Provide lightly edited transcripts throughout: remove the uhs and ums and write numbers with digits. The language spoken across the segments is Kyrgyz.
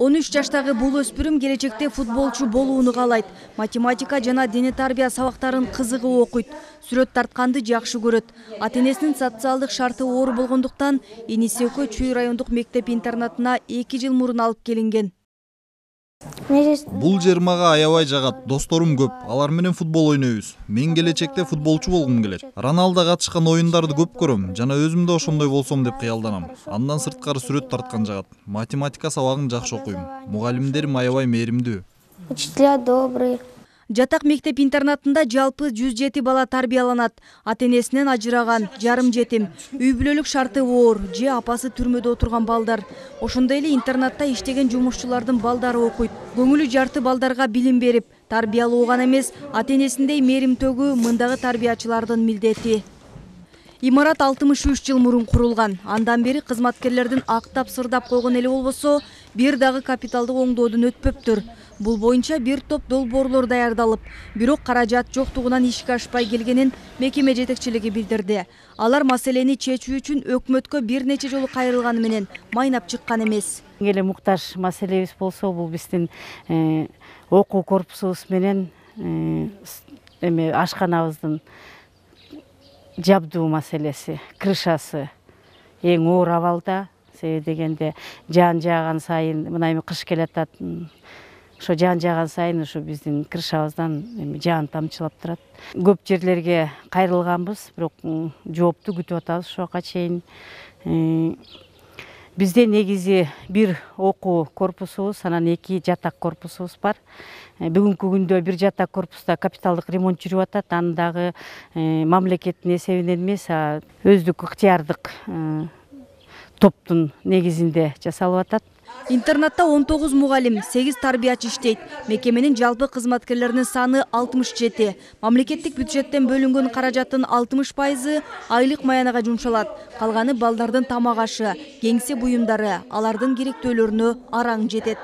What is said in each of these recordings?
13 жаштагы бул өспүрүм келечекте футболчу болууну каалайт. Математика жана дене тарбия сабактарын кызыгып окуйт. Сүрөт тартканды жакшы көрөт. Ата-энесинин социалдык шарты оор болгондуктан иниси экөө Чүй райондук мектеп-интернатына 2 жыл мурун алып келинген. Бул жер мага аябай жагат. Досторум көп. Алар менен футбол ойнойбуз. Мен келечекте футболчу болгум келет. Роналдо катышкан оюндарды көп көрөм жана өзүм да ошондой болсом деп кыялданам. Андан сырткары сүрөт тарткан жагат. Математика сабагын жакшы окуйм. Мугалимдерим аябай мээримдүү. Учителя добрые. Жатак мектеп-интернатында жалпы 107 бала тарбияланат. Ата-энесинен ажыраган, жарым жетим, үй бүлөлүк шарты оор, же апасы түрмөдө отурган балдар. Ошондой эле интернатта иштеген жумушчулардын балдары окуйт. Көңүлү жарты балдарга билим берип, тарбиялоо гана эмес, ата-энесиндей мээримтөгүү мындагы тарбиячылардын милдети. Имарат 63 жыл мурун курулган. Андан бери кызматкерлердин актап-сырдап койгон эле болбосо, бир дагы капиталдык оңдоодон өтпөптүр. Бул боюнча бир топ долбоорлор даярдалып, бирок каражат жоктугунан ишке ашпай келгенин мекеме жетекчилиги билдирди. Алар маселени чечүү үчүн өкмөткө бир нече жолу кайрылганы менен майнап чыккан эмес. Эле муктаж маселебиз болсо, бул биздин окуу корпусубуз менен ашканабыздын жабдуу маселеси, крышасы эң оор абалда. Себеби дегенде жаан жааган сайын, мына эми кыш келатат. Ошо жаан жааган сайын ушу биздин крышабыздан жаан тамчылап турат. Көп жерлерге кайрылганбыз, бирок жоопту күтүп атабыз ошого чейин. Бизде негизи бир окуу корпусубуз, анан 2 жатак корпусубуз бар. Бүгүнкү күндө бир жатак корпуста капиталдык ремонт жүрүп атат. Аны дагы мамлекеттин эсебинен эмес, өздүк ыктыярдык топтун негизинде жасалып атат. Интернатта 19 мугалим, 8 тарбиячы иштейт. Мекеменин жалпы кызматкерлеринин саны 67. Мамлекеттик бюджеттен бөлүнгөн каражаттын 60% айлык маянага жумшалат. Калганы балдардын тамак ашы, кеңсе буюмдары, алардын керектөөлөрүнө араң жетет.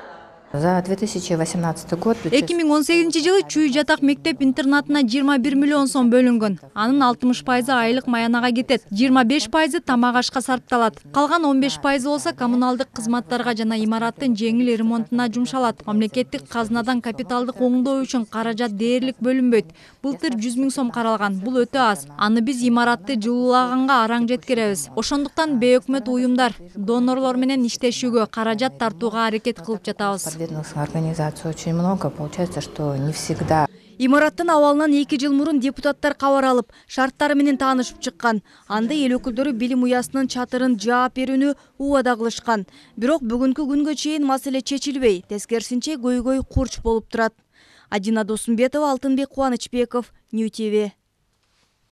За 2018 год 2018 жылы Чүй жатак мектеп-интернатына 21 миллион сом бөлүнгөн. Анын 60% айлык маянага кетет, 25% тамак ашка сарпталат. Калган 15% болсо коммуналдык кызматтарга жана имараттын жеңил ремонтуна жумшалат. Мамлекеттик казнадан капиталдык оңдоо үчүн каражат дээрлик бөлүнбөйт. Былтыр 100 000 сом каралган. Бул өтө аз. Аны биз имаратты жылуулаганга араң жеткиребиз. Ошондуктан бейөкмөт уюмдар, донорлор менен иштешүүгө, каражат тартууга аракет кылып жатабыз. Организаций очень много, получается, что не всегда. Имараттын абалынан 2 жыл мурун депутаттар кабар алып, шарттары менен таанышып чыккан. Анда эл өкүлдөрү билим уясынын чатырын жаап берүүнү убада кылышкан. Бирок бүгүнкү күнгө чейин маселе чечилбей, тескерисинче көйгөй курч болуп турат. Адина Досумбетова, Алтынбек Кубанычбеков, Нью ТВ.